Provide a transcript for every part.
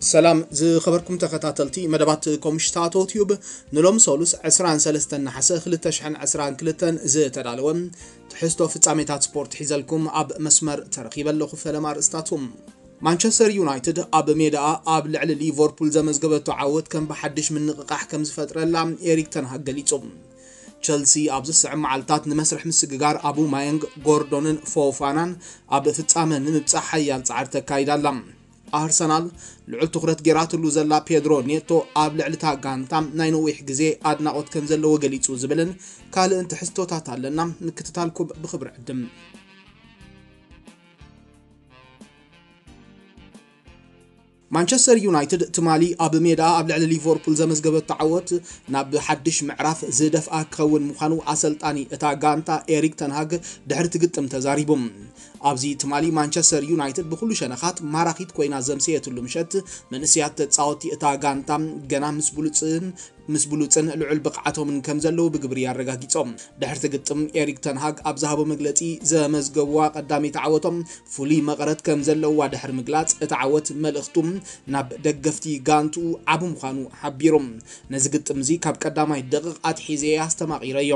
ሰላም ዝኸበርኩም ተኸታተልቲ መደባት ኮምሽታቶ ቲዩብ፣ ንሎም ሰሉስ ዕስራን ሰለስተን ነሓሰ ክልተ ሽሕን ዕስራን ክልተን ዝተዳለወ ትሕዝቶ ፍጻሜታት ስፖርት ሒዘልኩም ኣብ መስመር ተረኺበ ኣለኹ። ፈለማ ኣርእስታቱ። ማንቸስተር ዩናይትድ ኣብ ሜዳኣ ኣብ ልዕሊ ሊቨርፑል ዘመዝገበቶ ዓወት ከም ብሓድሽ ምንቕቓሕ ከም ዝፈጥረላ ኤሪክ ተንሃግ ገሊጹ። ቸልሲ ኣብዚ ዝስዕብ መዓልታት ንመስርሕ ምስግጋር ኣቡማየንግ፣ ጎርዶንን ፎፋናን ኣብ ፍጻመ ንምብጻሕ ሓያል ጻዕሪ ተካይድ ኣላ። ኣርሰናል ልዑል ትኹረት ጌራትሉ ዘላ ፔድሮ ኔቶ ኣብ ልዕሊ እታ ጋንታ ናይ ነዊሕ ግዜ ኣድናቖት ከም ዘለዎ ገሊጹ ዝብልን ካልእን ትሕዝቶታት ኣለና። ምክትታልኩም ብኽብሪ ዕድም። ማንቸስተር ዩናይትድ ትማሊ ኣብ ሜዳ ኣብ ልዕሊ ሊቨርፑል ዘመዝገበቶ ዓወት ናብ ሓድሽ ምዕራፍ ዝደፍኣ ክኸውን ምዃኑ ኣሰልጣኒ እታ ጋንታ ኤሪክ ተንሃግ ድሕሪ እቲ ግጥም ተዛሪቡ። ኣብዚ ትማሊ ማንቸስተር ዩናይትድ ብኹሉ ሸነኻት ማራኺት ኮይና ዘምሰየትሉ ምሸት፣ መንእሰያት ተጻወቲ እታ ጋንታ ገና ምስ ብሉጽን ምስ ብሉጽን ልዑል ብቕዓቶምን ከም ዘለዉ ብግብሪ ኣረጋጊጾም። ድሕርቲ ግጥም ኤሪክ ተንሃግ ኣብ ዝሃቦ መግለጺ፣ ዘመዝገብዋ ቀዳመይቲ ዓወቶም ፍሉይ መቐረት ከም ዘለዋ ድሕሪ ምግላጽ፣ እቲ ዓወት መልእኽቱ ናብ ደገፍቲ ጋንትኡ ዓቢ ምዃኑ ሓቢሩ። ነዚ ግጥም እዚ ካብ ቀዳማይ ደቂቕ ኣትሒዘ ኣስተማቒረዮ።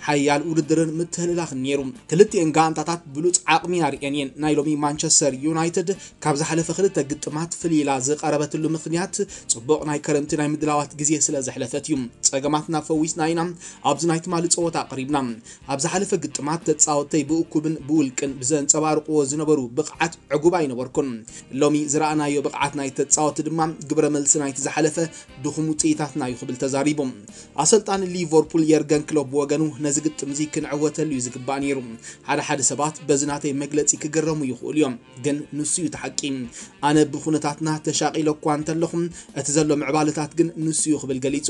ሓያል ውድድርን ምትህልላኽን ነይሩ። ክልቲኤን ጋንታታት ብሉጽ ዓቕሚ ኣርእየን እየን። ናይ ሎሚ ማንቸስተር ዩናይትድ ካብ ዝሓለፈ ክልተ ግጥማት ፍልይ ኢላ ዝቐረበትሉ ምኽንያት፣ ጽቡቕ ናይ ክረምቲ ናይ ምድላዋት ግዜ ስለ ዘሕለፈት እዩ። ጸገማትና ፈዊስና ኢና ኣብዚ ናይ ትማሊ ጸወታ ኣቕሪብና። ኣብ ዝሓለፈ ግጥማት ተጻወተይ ብእኩብን ብውልቅን ብዘንጸባርቕዎ ዝነበሩ ብቕዓት ዕጉብ ኣይነበርኩን። ሎሚ ዝረኣናዮ ብቕዓት ናይ ተጻወቲ ድማ ግብረ መልሲ ናይቲ ዝሓለፈ ድኹም ውጽኢታትና እዩ ክብል ተዛሪቡ። ኣሰልጣኒ ሊቨርፑል የርገን ክሎፕ ብወገኑ፣ ነዚ ግጥም እዚ ክንዕወተሉ እዩ ዝግባእ ነይሩ። ሓደ ሓደ ሰባት በዚ ናተይ መግለጺ ክግረሙ ይኽእሉ እዮም፣ ግን ንሱ እዩ እቲ ሓቂ። ኣነ ብኹነታትና ተሻቒለ እኳ እንተለኹ፣ እቲ ዘሎ ምዕባለታት ግን ንሱ እዩ ክብል ገሊጹ።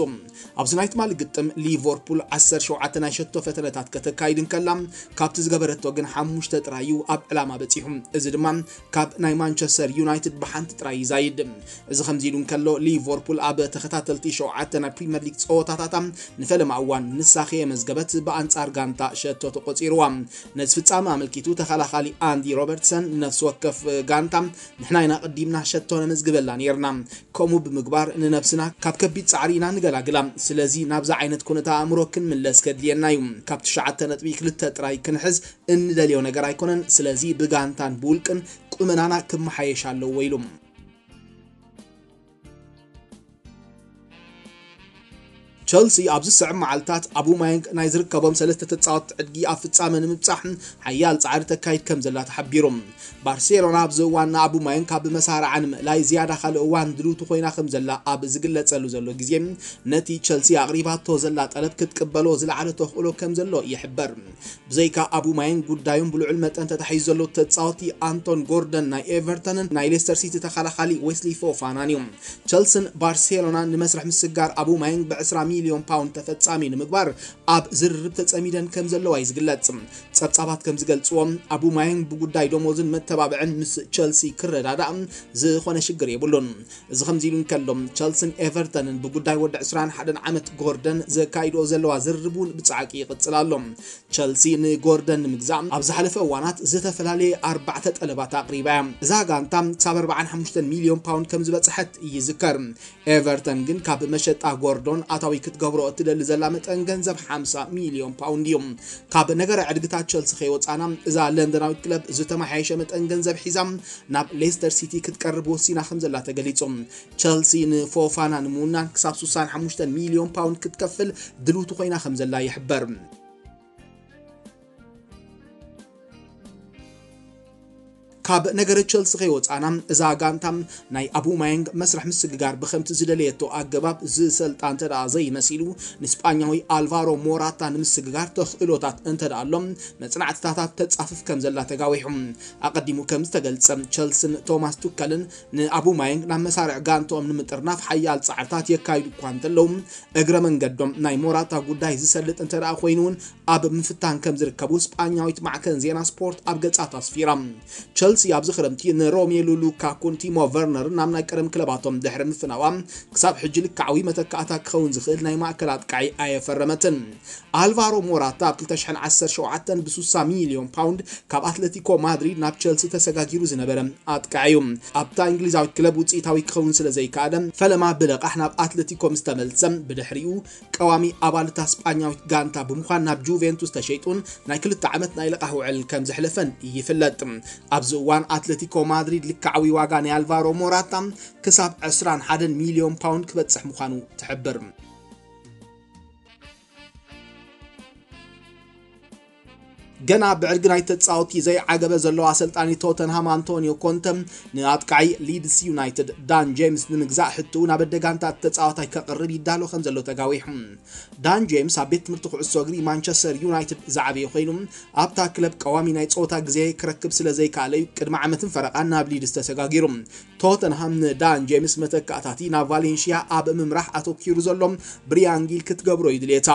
ኣብዚ ናይ ትማሊ ግጥም ሊቨርፑል ዓሰርተ ሸውዓተ ናይ ሸቶ ፈተነታት ከተካይድ እንከላ፣ ካብቲ ዝገበረቶ ግን ሓሙሽተ ጥራይ እዩ ኣብ ዕላማ በጺሑ። እዚ ድማ ካብ ናይ ማንቸስተር ዩናይትድ ብሓንቲ ጥራይ ይዛይድ። እዚ ከምዚ ኢሉ እንከሎ፣ ሊቨርፑል ኣብ ተኸታተልቲ ሸውዓተ ናይ ፕሪምየር ሊግ ጸወታታታ ንፈለማ እዋን ንሳ ከየመዝገበት ብኣንጻር ጋንታ ሸቶ ተቖጺርዋ። ነዚ ፍጻመ ኣመልኪቱ ተኸላኻሊ ኣንዲ ሮበርትሰን፣ ነፍሲ ወከፍ ጋንታ ንሕና ኢና ቀዲምና ሸቶ ነመዝግበላ ነይርና። ከምኡ ብምግባር ንነብስና ካብ ከቢድ ጻዕሪ ኢና ንገላግላ። ስለዚ ናብዚ ዓይነት ኩነተ ኣእምሮ ክንምለስ ከድልየና እዩ። ካብ ትሽዓተ ነጥቢ ክልተ ጥራይ ክንሕዝ እንደልዮ ነገር ኣይኮነን። ስለዚ ብጋንታን ብውልቅን ቁመናና ክመሓየሽ ኣለዎ ኢሉ። ቸልሲ ኣብዚ ዝስዕብ መዓልታት ኣቡማየንግ ናይ ዝርከቦም ሰለስተ ተጻወትቲ ዕድጊ ኣብ ፍጻመ ንምብጻሕ ሓያል ጻዕሪ ተካይድ ከም ዘላ ተሓቢሩ። ባርሴሎና ኣብዚ እዋን ንኣቡማየንግ ካብ መሳርዓ ንምእላይ ዝያዳ ካልእ እዋን ድልውቲ ኮይና ከም ዘላ ኣብ ዝግለጸሉ ዘሎ ግዜ፣ ነቲ ቸልሲ ኣቕሪባቶ ዘላ ጠለብ ክትቅበሎ ዝለዓለ ተኽእሎ ከም ዘሎ ይሕበር። ብዘይካ ኣቡማየንግ፣ ጉዳዮም ብልዑል መጠን ተታሒዙ ዘሎ ተጻወቲ ኣንቶን ጎርደን ናይ ኤቨርተንን ናይ ሌስተር ሲቲ ተኸላኻሊ ዌስሊ ፎፋናን እዩ። ቸልስን ባርሴሎናን ንመስርሕ ምስጋር ኣቡማየንግ ብዕስራ ሚልዮን ፓውንድ ተፈጻሚ ንምግባር ኣብ ዝርርብ ተጸሚደን ከም ዘለዋ እዩ ዝግለጽ። ጸብጻባት ከም ዝገልጽዎ፣ ኣቡማየንግ ብጉዳይ ደሞዝን መተባብዕን ምስ ቸልሲ ክረዳዳእ ዝኾነ ሽግር የብሉን። እዚ ከምዚ ኢሉ እንከሎ፣ ቸልስን ኤቨርተንን ብጉዳይ ወዲ ዕስራን ሓደን ዓመት ጎርደን ዘካይድኦ ዘለዋ ዝርርብ እውን ብጻዕቂ ይቕጽል ኣሎ። ቸልሲ ንጎርደን ንምግዛእ ኣብ ዝሓለፈ እዋናት ዝተፈላለየ ኣርባዕተ ጠለባት ኣቕሪባ እያ። እዛ ጋንታ ክሳብ ኣርባዓን ሓሙሽተን ሚልዮን ፓውንድ ከም ዝበጽሐት ይዝከር። ኤቨርተን ግን ካብ መሸጣ ጎርዶን ኣታዊ ክትገብሮ እትደሊ ዘላ መጠን ገንዘብ ሓምሳ ሚልዮን ፓውንድ እዩ። ካብ ነገረ ዕድግታት ቸልሲ ከይወጻና፣ እዛ ለንደናዊት ክለብ ዝተመሓየሸ መጠን ገንዘብ ሒዛ ናብ ሌስተር ሲቲ ክትቀርብ ወሲና ከም ዘላ ተገሊጹ። ቸልሲ ንፎፋና ንምውናን ክሳብ ስሳን ሓሙሽተን ሚልዮን ፓውንድ ክትከፍል ድልውቲ ኮይና ከም ዘላ ይሕበር። ካብ ነገረ ቸልሲ ከይወጻና፣ እዛ ጋንታ ናይ ኣቡማየንግ መስርሕ ምስግጋር ብከምቲ ዝደለየቶ ኣገባብ ዝሰልጣ እንተ ደኣ ዘይመሲሉ፣ ንስጳኛዊ ኣልቫሮ ሞራታ ንምስግጋር ተኽእሎታት እንተ ደኣ ኣሎ፣ መጽናዕትታታት ተጻፍፍ ከም ዘላ ተጋዊሑ። ኣቐዲሙ ከም ዝተገልጸ፣ ቸልስን ቶማስ ቱከልን ንኣቡማየንግ ናብ መሳርዕ ጋንትኦም ንምጥርናፍ ሓያል ጻዕርታት የካይዱ እኳ እንተለዉ፣ እግረ መንገዶም ናይ ሞራታ ጉዳይ ዝሰልጥ እንተ ደኣ ኮይኑ እውን ኣብ ምፍታን ከም ዝርከቡ ስጳኛዊት ማዕከን ዜና ስፖርት ኣብ ገጻ ኣስፊራ። ቸልሲ ቸልሲ ኣብዚ ክረምቲ ንሮሜሉ ሉካኩን ቲሞ ቨርነርን ናብ ናይ ቀደም ክለባቶም ድሕሪ ምፍናዋ፣ ክሳብ ሕጂ ልክዓዊ መተካእታ ክኸውን ዝኽእል ናይ ማእከል ኣጥቃዒ ኣየፈረመትን። ኣልቫሮ ሞራታ ኣብ ክልተ ሽሕን ዓሰርተ ሸውዓተን ብ ስሳ ሚልዮን ፓውንድ ካብ ኣትለቲኮ ማድሪድ ናብ ቸልሲ ተሰጋጊሩ ዝነበረ ኣጥቃዒ እዩ። ኣብታ እንግሊዛዊት ክለብ ውጽኢታዊ ክኸውን ስለ ዘይከኣለ፣ ፈለማ ብለቓሕ ናብ ኣትለቲኮ ምስ ተመልሰ፣ ብድሕሪኡ ቀዋሚ ኣባል እታ ስጳኛዊት ጋንታ ብምዃን ናብ ጁቬንቱስ ተሸይጡን ናይ ክልተ ዓመት ናይ ለቓሕ ውዕል ከም ዘሕለፈን ይፍለጥ። ኣብዚ እዋን ኣትለቲኮ ማድሪድ ልክዓዊ ዋጋ ናይ ኣልቫሮ ሞራታ ክሳብ ዕስራን ሓደን ሚልዮን ፓውንድ ክበጽሕ ምዃኑ ትሕብር። ገና ብዕርጊ ናይ ተጻወቲ ዘይዓገበ ዘሎ ኣሰልጣኒ ቶተንሃም ኣንቶኒዮ ኮንተ፣ ንኣጥቃዒ ሊድስ ዩናይትድ ዳን ጄምስ ንምግዛእ ሕትኡ ናብ ኣደጋንታ ተጻዋታይ ከቕርብ ይዳሎ ከም ዘሎ ተጋዊሑ። ዳን ጄምስ ኣብ ቤት ትምህርቲ ኩዕሶ እግሪ ማንቸስተር ዩናይትድ ዝዓበየ ኮይኑ፣ ኣብታ ክለብ ቀዋሚ ናይ ጸወታ ግዜ ክረክብ ስለ ዘይከኣለ እዩ ቅድሚ ዓመትን ፈረቓን ናብ ሊድስ ተሰጋጊሩ። ቶተንሃም ንዳን ጄምስ መተካእታቲ ናብ ቫሌንሽያ ኣብ ምምራሕ ኣተኪሩ ዘሎ ብሪያን ጊል ክትገብሮ እዩ ድልየታ።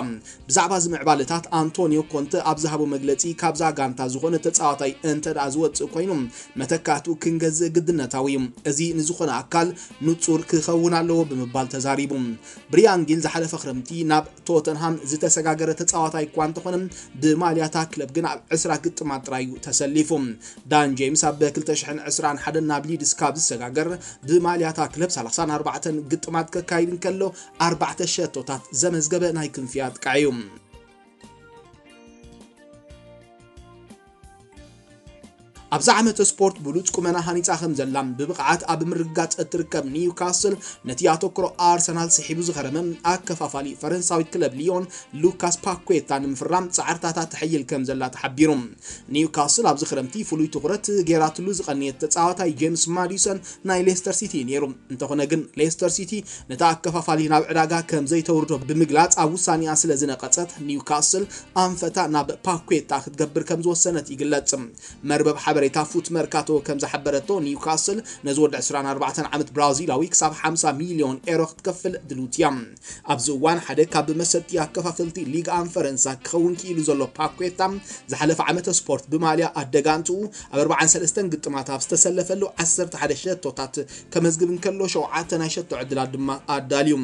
ብዛዕባ እዚ ምዕባለታት ኣንቶኒዮ ኮንተ ኣብ ዝሃቦ መግለጺ፣ ካብዛ ጋንታ ዝኾነ ተጻዋታይ እንተ ደኣ ዝወጽእ ኮይኑ፣ መተካእትኡ ክንገዝእ ግድነታዊ እዩ። እዚ ንዝኾነ ኣካል ንጹር ክኸውን ኣለዎ ብምባል ተዛሪቡ። ብሪያን ጊል ዝሓለፈ ክረምቲ ናብ ቶተንሃም ዝተሰጋገረ ተጻዋታይ እኳ እንተኾነ፣ ብማልያታ ክለብ ግን ኣብ ዕስራ ግጥማት ጥራይ እዩ ተሰሊፉ። ዳን ጄምስ ኣብ ክልተ ሽሕን ዕስራን ሓደን ናብ ሊድስ ካብ ዝሰጋገር፣ ብማልያታ ክለብ ሰላሳን ኣርባዕተን ግጥማት ከካይድ እንከሎ፣ ኣርባዕተ ሸቶታት ዘመዝገበ ናይ ክንፊ ኣጥቃዒ እዩ። ኣብዚ ዓመተ ስፖርት ብሉጽ ቁመና ሃኒጻ ከም ዘላ ብብቕዓት ኣብ ምርግጋጽ እትርከብ ኒውካስል፣ ነቲ ኣተኩሮ ኣርሰናል ስሒቡ ዝኸረመ ኣከፋፋሊ ፈረንሳዊት ክለብ ሊዮን ሉካስ ፓኩዌታ ንምፍራም ጻዕርታታ ተሐይል ከም ዘላ ተሓቢሩ። ኒውካስል ኣብዚ ክረምቲ ፍሉይ ትኹረት ገይራትሉ ዝቐነየት ተጻዋታይ ጄምስ ማዲሰን ናይ ሌስተር ሲቲ እዩ ነይሩ። እንተኾነ ግን ሌስተር ሲቲ ነታ ኣከፋፋሊ ናብ ዕዳጋ ከም ዘይተውርዶ ብምግላጽ ኣብ ውሳኔኣ ስለ ዝነቐጸት፣ ኒውካስል ኣንፈታ ናብ ፓኩዌታ ክትገብር ከም ዝወሰነት ይግለጽ። መርበብ ሓበሬታ ፉት መርካቶ ከም ዝሓበረቶ፣ ኒውካስል ነዚ ወዲ ዕስራን ኣርባዕተን ዓመት ብራዚላዊ ክሳብ ሓምሳ ሚልዮን ኤሮ ክትከፍል ድልውቲ እያ። ኣብዚ እዋን ሓደ ካብ መሰጥቲ ኣከፋፈልቲ ሊግ ኣን ፈረንሳ ክኸውን ክኢሉ ዘሎ ፓኩዌታ፣ ዝሓለፈ ዓመተ ስፖርት ብማልያ ኣደጋንትኡ ኣብ ኣርባዓን ሰለስተን ግጥማት ኣብ ዝተሰለፈሉ ዓሰርተ ሓደ ሸቶታት ከመዝግብ እንከሎ፣ ሸውዓተ ናይ ሸቶ ዕድላት ድማ ኣዳልዩ።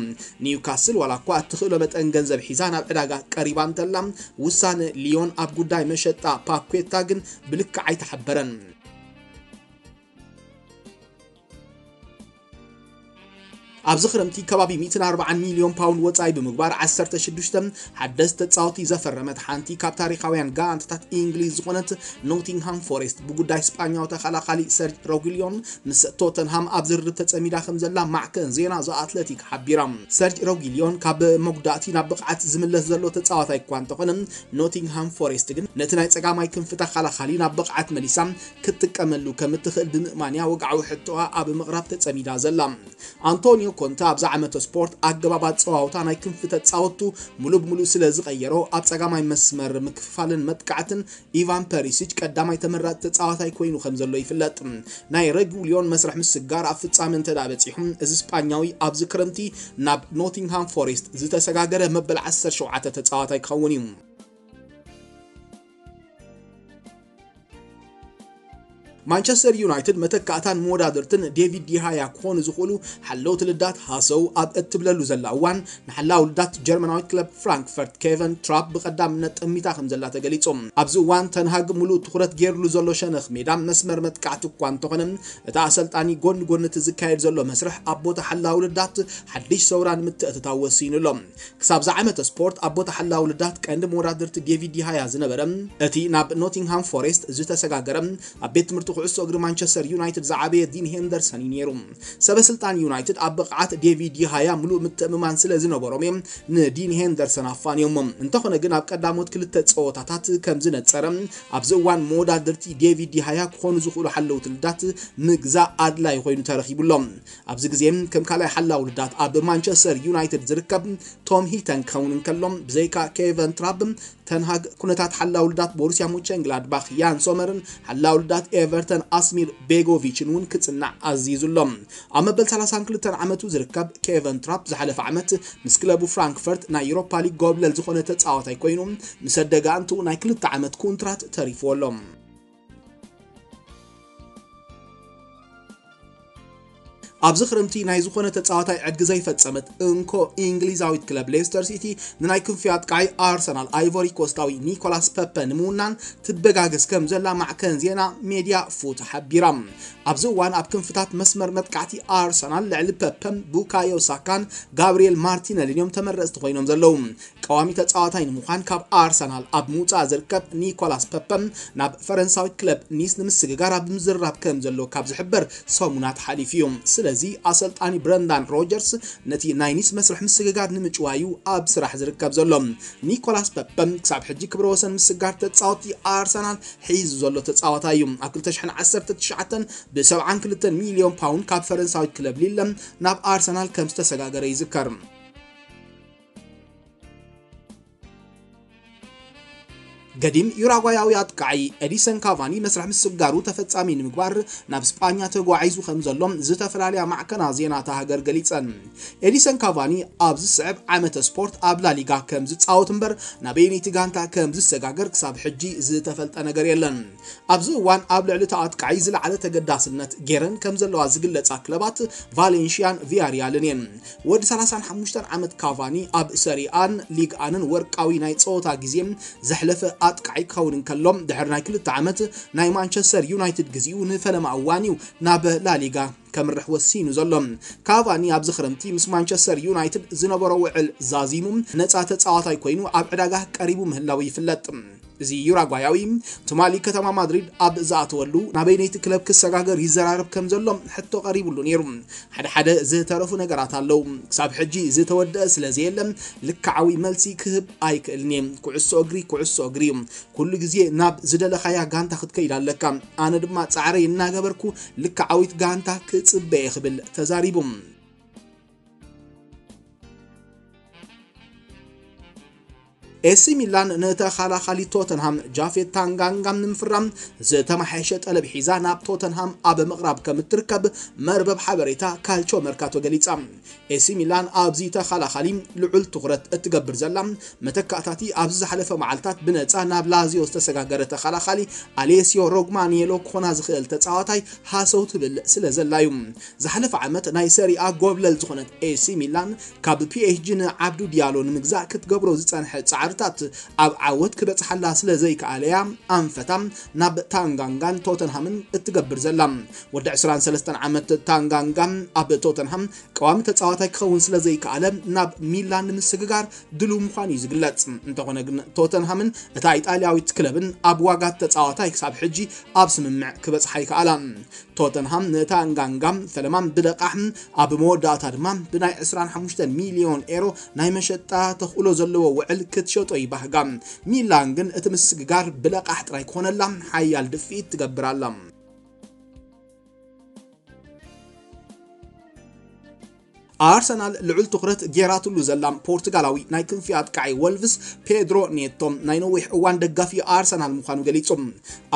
ኒውካስል ዋላ እኳ እትኽእሎ መጠን ገንዘብ ሒዛ ናብ ዕዳጋ ቀሪባ እንተላ፣ ውሳነ ሊዮን ኣብ ጉዳይ መሸጣ ፓኩዌታ ግን ብልክዕ ኣይተሓበረን። ኣብዚ ክረምቲ ከባቢ ሚእትን ኣርባዓን ሚልዮን ፓውንድ ወጻኢ ብምግባር፣ ዓሰርተ ሽዱሽተ ሓደስቲ ተጻወቲ ዘፈረመት ሓንቲ ካብ ታሪኻውያን ጋንታታት እንግሊዝ ዝኾነት ኖቲንግሃም ፎሬስት፣ ብጉዳይ ስጳኛዊ ተኸላኻሊ ሰርጅ ሮጊልዮን ምስ ቶተንሃም ኣብ ዝርርብ ተጸሚዳ ከም ዘላ ማዕከን ዜና ዘ ኣትለቲክ ሓቢራ። ሰርጅ ሮጊልዮን ካብ መጉዳእቲ ናብ ብቕዓት ዝምለስ ዘሎ ተጻዋታይ እኳ እንተኾነ፣ ኖቲንግሃም ፎሬስት ግን ነቲ ናይ ጸጋማይ ክንፊ ተኸላኻሊ ናብ ብቕዓት መሊሳ ክትጥቀመሉ ከም እትኽእል ብምእማንያ ወግዓዊ ሕቶኣ ኣብ ምቕራብ ተጸሚዳ ዘላ። ኣንቶኒዮ ኮንተ ኣብዚ ዓመተ ስፖርት ኣገባብ ኣጸዋውታ ናይ ክንፊ ተጻወቱ ሙሉ ብሙሉ ስለ ዝቐየሮ፣ ኣብ ጸጋማይ መስመር ምክፍፋልን መጥቃዕትን ኢቫን ፐሪሲች ቀዳማይ ተመራጺ ተጻዋታይ ኮይኑ ከም ዘሎ ይፍለጥ። ናይ ረጉሊዮን መስርሕ ምስጋር ኣብ ፍጻመ እንተ ደኣ በጺሑ፣ እዚ ስጳኛዊ ኣብዚ ክረምቲ ናብ ኖቲንግሃም ፎሬስት ዝተሰጋገረ መበል ዓሰርተ ሸውዓተ ተጻዋታይ ክኸውን እዩ። ማንቸስተር ዩናይትድ መተካእታን መወዳድርትን ዴቪድ ዲሃያ ክኾኑ ዝኽእሉ ሓለውቲ ልዳት ሃሰው ኣብ እትብለሉ ዘላ እዋን፣ ንሓላው ልዳት ጀርመናዊት ክለብ ፍራንክፈርት ኬቨን ትራፕ ብቐዳምነት ጠሚታ ከም ዘላ ተገሊጹ። ኣብዚ እዋን ተንሃግ ሙሉእ ትኹረት ገይርሉ ዘሎ ሸነኽ ሜዳ መስመር መጥቃዕቲ እኳ እንተኾነ፣ እቲ ኣሰልጣኒ ጎኒ ጎኒ እቲ ዝካየድ ዘሎ መስርሕ ኣብ ቦታ ሓላው ልዳት ሓድሽ ሰውራ ንምትእትታው ወሲኑ ኣሎ። ክሳብ ዝዓመተ ስፖርት ኣብ ቦታ ሓላው ልዳት ቀንዲ መወዳድርቲ ዴቪድ ዲሃያ ዝነበረ፣ እቲ ናብ ኖቲንግሃም ፎሬስት ዝተሰጋገረ፣ ኣብ ቤት ትምህርቲ ኩዕሶ እግሪ ማንቸስተር ዩናይትድ ዝዓበየ ዲን ሄንደርሰን እዩ ነይሩ። ሰበ ስልጣን ዩናይትድ ኣብ ብቕዓት ዴቪድ ዲሃያ ምሉእ ምትእምማን ስለ ዝነበሮም እዮም ንዲን ሄንደርሰን ኣፋንዮሞ። እንተኾነ ግን ኣብ ቀዳሞት ክልተ ጸወታታት ከም ዝነጸረ፣ ኣብዚ እዋን መወዳድርቲ ዴቪድ ዲሃያ ክኾኑ ዝኽእሉ ሓለውቲ ልዳት ምግዛእ ኣድላዪ ኮይኑ ተረኺቡ ኣሎ። ኣብዚ ግዜ ከም ካልኣይ ሓላው ልዳት ኣብ ማንቸስተር ዩናይትድ ዝርከብ ቶም ሂተን ክኸውን እንከሎ፣ ብዘይካ ኬቨን ትራፕ፣ ተንሃግ ኩነታት ሓላው ልዳት ቦሩስያ ሙቸንግላድባኽ ያን ሶመርን ሓላው ልዳት ኤቨርተን ኣስሚር ቤጎቪችን እውን ክጽናዕ ኣዚዙ ኣሎ። ኣብ መበል ሰላሳን ክልተን ዓመቱ ዝርከብ ኬቨን ትራፕ ዝሓለፈ ዓመት ምስ ክለቡ ፍራንክፈርት ናይ ዩሮፓ ሊግ ጎብለል ዝኾነ ተጻዋታይ ኮይኑ፣ ምስ ኣደጋንትኡ ናይ ክልተ ዓመት ኮንትራት ተሪፍዎ ኣሎ። ኣብዚ ክረምቲ ናይ ዝኾነ ተጻዋታይ ዕድጊ ዘይፈጸመት እንኮ እንግሊዛዊት ክለብ ሌስተር ሲቲ ንናይ ክንፊ ኣጥቃዒ ኣርሰናል ኣይቮሪ ኮስታዊ ኒኮላስ ፐፐ ንምውናን ትበጋገስ ከም ዘላ ማዕከን ዜና ሜድያ ፉት ሓቢራ። ኣብዚ እዋን ኣብ ክንፍታት መስመር መጥቃዕቲ ኣርሰናል ልዕሊ ፐፐን ቡካዮ ሳካን ጋብሪኤል ማርቲነሊን እዮም ተመረጽቲ ኮይኖም ዘለዉ። ቀዋሚ ተጻዋታይ ንምዃን ካብ ኣርሰናል ኣብ ምውጻእ ዝርከብ ኒኮላስ ፐፐ ናብ ፈረንሳዊት ክለብ ኒስ ንምስግጋር ኣብ ምዝርራብ ከም ዘሎ ካብ ዝሕበር ሰሙናት ሓሊፉ እዩ። ስለዚ ኣሰልጣኒ ብረንዳን ሮጀርስ ነቲ ናይ ኒስ መስርሕ ምስግጋር ንምጭዋዩ ኣብ ስራሕ ዝርከብ ዘሎ። ኒኮላስ ፐፐ ክሳብ ሕጂ ክብረ ወሰን ምስጋር ተጻወቲ ኣርሰናል ሒዙ ዘሎ ተጻዋታይ እዩ። ኣብ ክልተ ሽሕን ዓሰርተ ትሽዓተን ብ ሰብዓን ክልተን ሚልዮን ፓውንድ ካብ ፈረንሳዊት ክለብ ሊለ ናብ ኣርሰናል ከም ዝተሰጋገረ ይዝከር። ገዲም ዩራጓያዊ ኣጥቃዒ ኤዲሰን ካቫኒ መስርሕ ምስጋሩ ተፈጻሚ ንምግባር ናብ ስጳኛ ተጓዒዙ ከም ዘሎ ዝተፈላለያ ማዕከናት ዜና እታ ሃገር ገሊጸን። ኤዲሰን ካቫኒ ኣብ ዝስዕብ ዓመተ ስፖርት ኣብ ላሊጋ ከም ዝጻወት እምበር ናበየነይቲ ጋንታ ከም ዝሰጋገር ክሳብ ሕጂ ዝተፈልጠ ነገር የለን። ኣብዚ እዋን ኣብ ልዕሊ እቲ ኣጥቃዒ ዝለዓለ ተገዳስነት ገይረን ከም ዘለዋ ዝግለጻ ክለባት ቫሌንሽያን ቪያሪያልን እየን። ወዲ ሰላሳን ሓሙሽተን ዓመት ካቫኒ ኣብ ሰሪኣን ሊግ ኣንን ወርቃዊ ናይ ጸወታ ግዜ ዘሕለፈ ኣጥቃዒ ክኸውን እንከሎ፣ ድሕሪ ናይ ክልተ ዓመት ናይ ማንቸስተር ዩናይትድ ግዜኡ ንፈለማ እዋን እዩ ናብ ላሊጋ ከምርሕ ወሲኑ ዘሎ። ካቫኒ ኣብዚ ክረምቲ ምስ ማንቸስተር ዩናይትድ ዝነበሮ ውዕል ዛዚሙ ነጻ ተጻዋታይ ኮይኑ ኣብ ዕዳጋ ቀሪቡ ምህላው ይፍለጥ። እዚ ዩራጓያዊ ትማሊ ከተማ ማድሪድ ኣብ ዝኣተወሉ ናበይነይቲ ክለብ ክሰጋገር ይዘራረብ ከም ዘሎ ሕቶ ቀሪቡሉ ነይሩ። ሓደ ሓደ ዝተረፉ ነገራት ኣለዉ። ክሳብ ሕጂ ዝተወደአ ስለ ዘየለ ልክዓዊ መልሲ ክህብ ኣይክእልን እየ። ኩዕሶ እግሪ ኩዕሶ እግሪ እዩ። ኩሉ ግዜ ናብ ዝደለኻያ ጋንታ ክትከይድ ኣለካ። ኣነ ድማ ጻዕረይ እናገበርኩ ልክዓዊት ጋንታ ክጽበ እየ ክብል ተዛሪቡ። ኤሲ ሚላን ንተኸላኻሊ ቶተንሃም ጃፌት ታንጋንጋም ንምፍራም ዝተመሓየሸ ጠለብ ሒዛ ናብ ቶተንሃም ኣብ ምቕራብ ከም እትርከብ መርበብ ሓበሬታ ካልቾ መርካቶ ገሊጻ። ኤሲ ሚላን ኣብዚ ተኸላኻሊ ልዑል ትኹረት እትገብር ዘላ፣ መተካእታቲ ኣብዚ ዝሓለፈ መዓልታት ብነጻ ናብ ላዚዮ ዝተሰጋገረ ተኸላኻሊ ኣሌሲዮ ሮግማኒየሎ ክኾና ዝኽእል ተጻዋታይ ሃሰው ትብል ስለ ዘላ እዩ። ዝሓለፈ ዓመት ናይ ሰሪኣ ጎብለል ዝኾነት ኤሲ ሚላን ካብ ፒኤስጂ ንዓብዱ ዲያሎ ንምግዛእ ክትገብሮ ዝጸንሐ ጻዕርታት ኣብ ዓወት ክበጽሓላ ስለ ዘይከኣለያ ኣንፈታ ናብ ታንጋንጋን ቶተንሃምን እትገብር ዘላ። ወዲ ዕስራን ሰለስተን ዓመት ታንጋንጋ ኣብ ቶተንሃም ቀዋሚ ተጻዋታይ ክኸውን ስለ ዘይከኣለ ናብ ሚላን ንምስግጋር ድሉው ምዃኑ እዩ ዝግለጽ። እንተኾነ ግን ቶተንሃምን እታ ኢጣልያዊት ክለብን ኣብ ዋጋ ተጻዋታይ ክሳብ ሕጂ ኣብ ስምምዕ ክበጽሓ ይከኣላ። ቶተንሃም ንታንጋንጋ ፈለማ ብለቃሕ ኣብ መወዳእታ ድማ ብናይ ዕስራን ሓሙሽተን ሚልዮን ኤሮ ናይ መሸጣ ተኽእሎ ዘለዎ ውዕል ክትሸጦ ይባህጋ። ሚላን ግን እቲ ምስግጋር ብለቃሕ ጥራይ ክኾነላ ሓያል ድፍኢት ትገብር ኣላ። ኣርሰናል ልዑል ትኹረት ጌራትሉ ዘላ ፖርቱጋላዊ ናይ ክንፊ ኣጥቃዒ ወልቭስ ፔድሮ ኔቶ ናይ ነዊሕ እዋን ደጋፊ ኣርሰናል ምዃኑ ገሊጹ።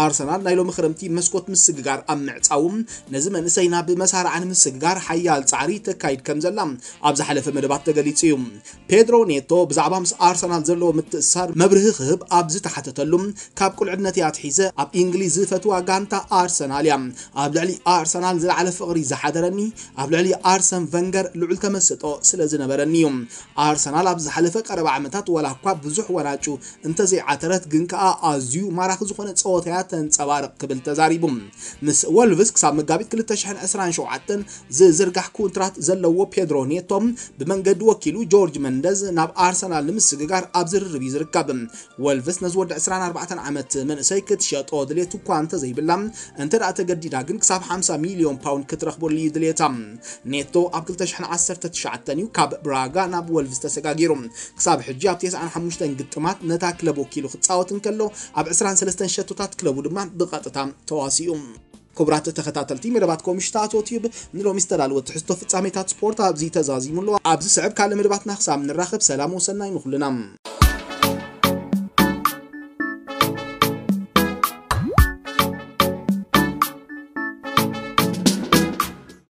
ኣርሰናል ናይ ሎሚ ክረምቲ መስኮት ምስግጋር ኣብ ምዕጻዉ ነዚ መንእሰይ ናብ መሳርዓ ንምስግጋር ሓያል ጻዕሪ ተካይድ ከም ዘላ ኣብ ዝሓለፈ መደባት ተገሊጹ እዩ። ፔድሮ ኔቶ ብዛዕባ ምስ ኣርሰናል ዘለዎ ምትእስሳር መብርሂ ክህብ ኣብ ዝተሓተተሉ፣ ካብ ቁልዕነተይ ኣትሒዘ ኣብ እንግሊዝ ዝፈትዋ ጋንታ ኣርሰናል እያ። ኣብ ልዕሊ ኣርሰናል ዝለዓለ ፍቕሪ ዝሓደረኒ ኣብ ልዕሊ ኣርሰን ቨንገር ልዑል ተመስጦ ስለ ዝነበረኒ እዩ። ኣርሰናል ኣብ ዝሓለፈ ቀረባ ዓመታት ዋላ እኳ ብዙሕ ዋንጫ እንተዘይዓተረት ግን ከኣ ኣዝዩ ማራኺ ዝኾነ ጸወታያ ተንጸባርቕ ክብል ተዛሪቡ። ምስ ወልቭስ ክሳብ መጋቢት ክልተ ሽሕን ዕስራን ሸውዓተን ዝዝርጋሕ ኮንትራት ዘለዎ ፔድሮ ኔቶ ብመንገዲ ወኪሉ ጆርጅ መንደዝ ናብ ኣርሰናል ንምስግጋር ኣብ ዝርርብ እዩ ዝርከብ። ወልቭስ ነዚ ወዲ ዕስራን ኣርባዕተን ዓመት መንእሰይ ክትሸጦ ድሌት እኳ እንተዘይብላ፣ እንተ ደኣ ተገዲዳ ግን ክሳብ ሓምሳ ሚልዮን ፓውንድ ክትረኽበሉ እዩ ድሌታ። ኔቶ ኣብ ክልተ ሽሕን ዓሰርተ ትሽዓተን እዩ ካብ ብራጋ ናብ ወልቭስ ተሰጋጊሩ። ክሳብ ሕጂ ኣብ ተስዓን ሓሙሽተን ግጥማት ነታ ክለብ ወኪሉ ክጻወት እንከሎ፣ ኣብ ዕስራን ሰለስተን ሸቶታት ክለቡ ድማ ብቐጥታ ተዋሲኡ። ክቡራት ተኸታተልቲ መደባት ኮምሽታቶ ቲዩብ፣ ንሎሚ ዝተዳለወ ትሕዝቶ ፍጻሜታት ስፖርት ኣብዚ ተዛዚሙ ኣሎ። ኣብዚ ስዕብ ካልእ መደባትና ክሳብ ንራኸብ ሰላም ወሰናይ ንኹልና።